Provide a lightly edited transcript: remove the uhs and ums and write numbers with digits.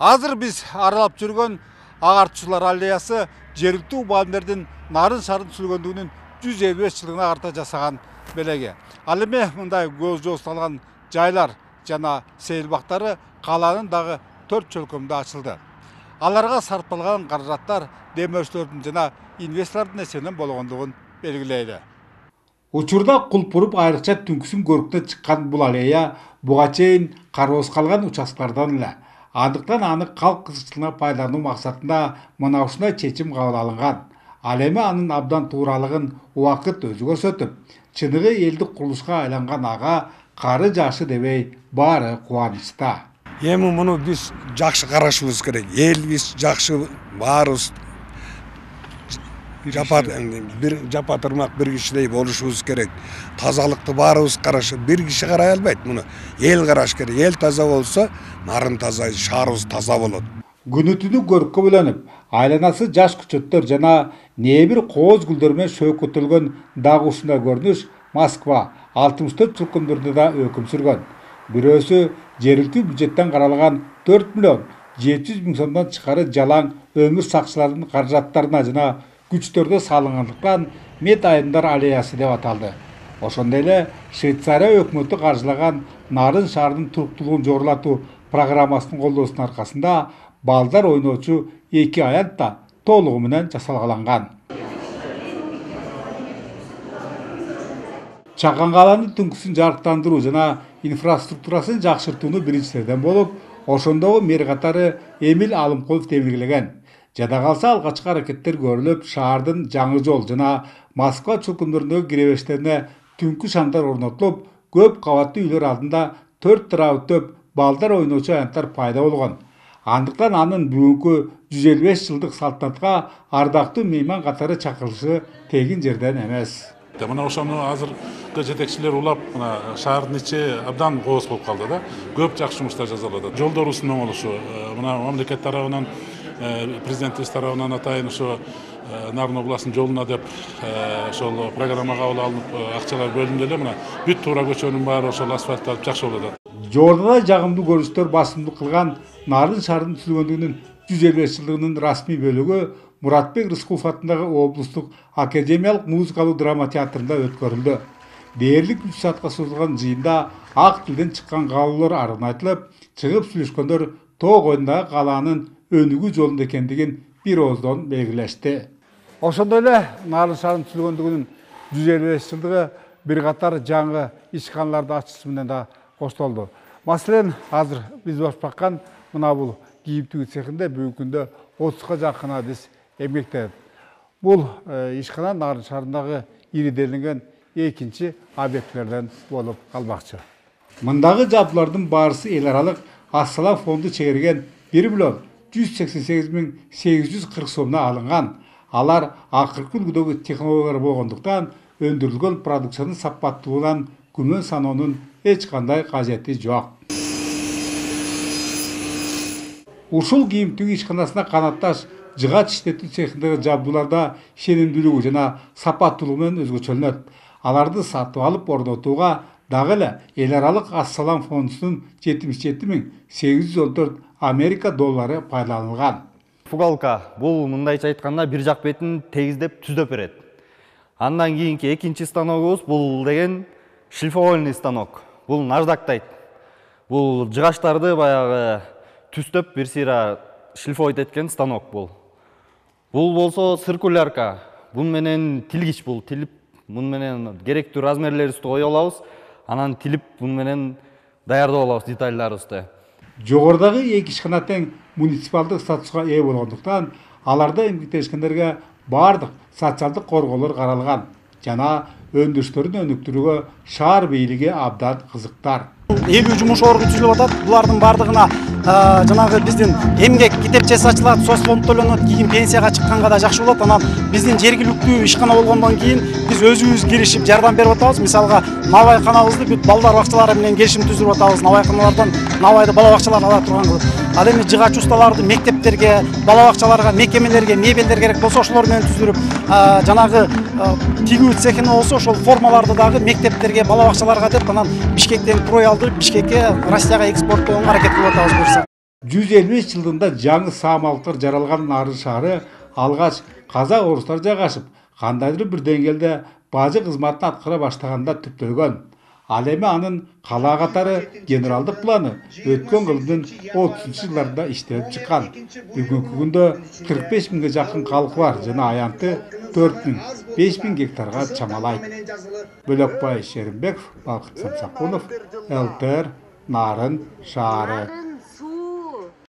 Азыр биз аралап жүргөн агартуучулар аллеясы жергиликтүү мугалимдердин нарын шарын сүргөндүгүнүн 155 жылдыгына карата жасаган белеги. Ал эми мындай көз жосталган жайлар жана сейил бактары каланын дагы 4 чөлкөмүндө ачылды. Аларга сарпталган каражаттар демөөрчүлөрдүн жана инвесторлордун эсебинен болгондугун белгилейли. Учурда Кулпуруп айрыкча түнкүсүн көрүктөн чыккан бул аллея буга чейин кароосуз калган участкалардан эле. Андыктан аны калк кызыкчылыгына пайдалануу максатында мына ушундай чечим кабыл алынган. Ал эми анын абдан тууралыгын убакыт өзү көрсөтүп, чыныгы элдик курулушка айланган ага кары жашы дебей баары кубанычта. Эми муну биз жакшы карашыбыз керек. Элбиз жакшы баарыбыз бир жапа-тырмак бир кишидей болушубуз керек. Тазалыкты баарыбыз карашып, бир киши карай албайт муну. Эл караш керек. Эл таза болсо, нарын таза, шаарыбыз таза болот. Күнү түнү көрккө бөлөнүп, айланасы жаш көчөттөр жана небир кооз гүлдөр менен шөкөтөлгөн дагы ушундай көрүнүш Москва 64 чөлкөмдөрдө да өкүм сүргөн. Бирөөсү жергиликтүү бюджеттен каралган 4 миллион 700 миң сомдон чыкары жалаң өмүр сакчыларынын каражаттарына жана күчтөрдө салынгандыктан Мед айымдар аллеясы деп аталды. Ошондой эле Швейцария өкмөтү каржылаган нарын шаарынын туруктуулугун жогорулатуу программасынын колдоосунун аркасында балдар ойноочу 2 аянт да толугу менен жасалгаланган. Чакан каланын түнкүсүн жарыктандыруу жана инфраструктурасын жакшыртууну биринчилерден болуп, ошондогу мэр катары Эмил Алымкулов тебиргилеген. Жада калса алгачкы аракеттер көрүлүп, шаардын жаңы жол жана Москва чөлкөмдөрүндөгү киребештерине түнкү шамдар орнотулуп, көп кабаттуу үйлөр алдында 4 тарабы төп балдар ойноочу аянттар пайда болгон. Андыктан анын бүгүнкү 155 жылдык салтанатка ардактуу мейман катары чакырылышы тегин жерден эмес. Мына ошону азыркы жетекчилер улап, мына шаардын ичи абдан кооз болуп калды да. Көп жакшы жумуштар жасалып атат. Жолдорубуздун оңолушу, мына мамлекет тарабынан, президентибиз тарабынан атайын ошо Нарын областынын жолуна деп ошол программа кабыл алынып, акчалар бөлүндү эле. Мына бүт туура көчөнүн баары ошол асфальтталып жакшы болуп атат. Жогоруда жагымдуу көрүнүштөр басымдуулук кылган нарын шаарынын түзүлгөндүгүнүн 155 жылдыгынын расмий бөлүгү Муратбек Рыскулов атындагы облустук академиялык музыкалык драма театрында өткөрүлдү. Дээрлик 3 саатка созулган жыйында ак тилден чыккан каалоолор арын айтылып, чыгып сүйлөшкөндөр тоо койдундагы калаанын өнүгүү жолунда экендигин бир ооздон белгилешти. Ошондой эле нарын шаарынын түзүлгөндүгүнүн 155 жылдыгы бир катар жаңы ишканаларды ачышы менен да коштолду. Маселен, азыр биз баш баккан мына бул кийим тигүү цехинде бүгүнкү күндө 30га жакын адис эмгектенет. Бул ишкана нарын шаарындагы ириденген экинчи объектилерден болуп калмакчы. Мындагы жабдуулардын баарысы эл аралык Ассалам фонду чегерген 1 миллион 188 миң 840 сомдон алынган. Алар акыркы үлгүдөгү технологиялар болгондуктан өндүрүлгөн продукциянын сапаттуулугунан күмөн саноонун эч кандай кажети жок. Ушул кийим тигүү ишканасына канатташ жыгач иштетүү цехиндеги жабдууларда ишенимдүүлүгү жана сапаттуулугу менен өзгөчөлөнөт. Аларды сатып алып орнотууга дагы эле эл аралык Ассалам фондунун 77 миң 814 Америка доллары пайдаланылган. Фугалка бул мындайча айтканда бир жак бетин тегиздеп түздөп берет. Андан кийинки экинчи станогубуз бул деген шлифовальный станок. Бул наждактайт. Бул жыгачтарды баягы түздөп бир сыйра шлифовать эткен станок бул. Бул болсо циркулярка. Бун менен тилгич бул. Тилип, бун менен керектүү размерлерибизди кое алабыз. Анан тилип, бун менен даярдап алабыз детальдарыбызды. Жогорудагы эки ишкана тең муниципалдык статуска ээ болгондуктан, аларда эмгектенишкендерге бардык социалдык корголор каралган жана өндүрүштөрүн өнүктүрүүгө шаар бийлиги абдан кызыктар. 50 жумуш орну түзүлүп атат. Булардын бардыгына жанагы биздин эмгек китепчеси ачылат, соцфонд төлөнөт, кийин пенсияга чыкканга да жакшы болот. Анан биздин жергиликтүү ишкана болгондон кийин биз өзүбүз киришип жардам берип атабыз. Мисалга, Навай канабызды бүт балдар бакчалары менен келишим түзүп атабыз. Навай каналардан Навайды бала бакчаларына ала турган кылып. Ал эми жыгач усталарды мектептерге, бала бакчаларга, мекемелерге мебелдер керек болсо ошолор менен түзүрүп, жанагы тигүү цехине болсо ошол формаларды дагы мектептерге, бала бакчаларга деп анан Бишкектен крой алдырып, Бишкекке, Россияга экспорттоого аракет кылып атабыз. 155 жылдында жаңы саамалыктар жаралган Нарын шаары алгач казак орустар жайгашып, кандайдыр бир деңгээлде бажы кызматын аткара баштаганда түптөлгөн. Ал эми анын кала катары генералдык планы өткөн кылымдын 30-жылдарында иштелип чыккан. Бүгүнкү күндө 45 миңге жакын калкы бар жана аянты 4 миң гектарга чамалайт. Бөлөкбай Шеримбеков, Балкыт Самсакулов, ЛТР, Нарын шаары.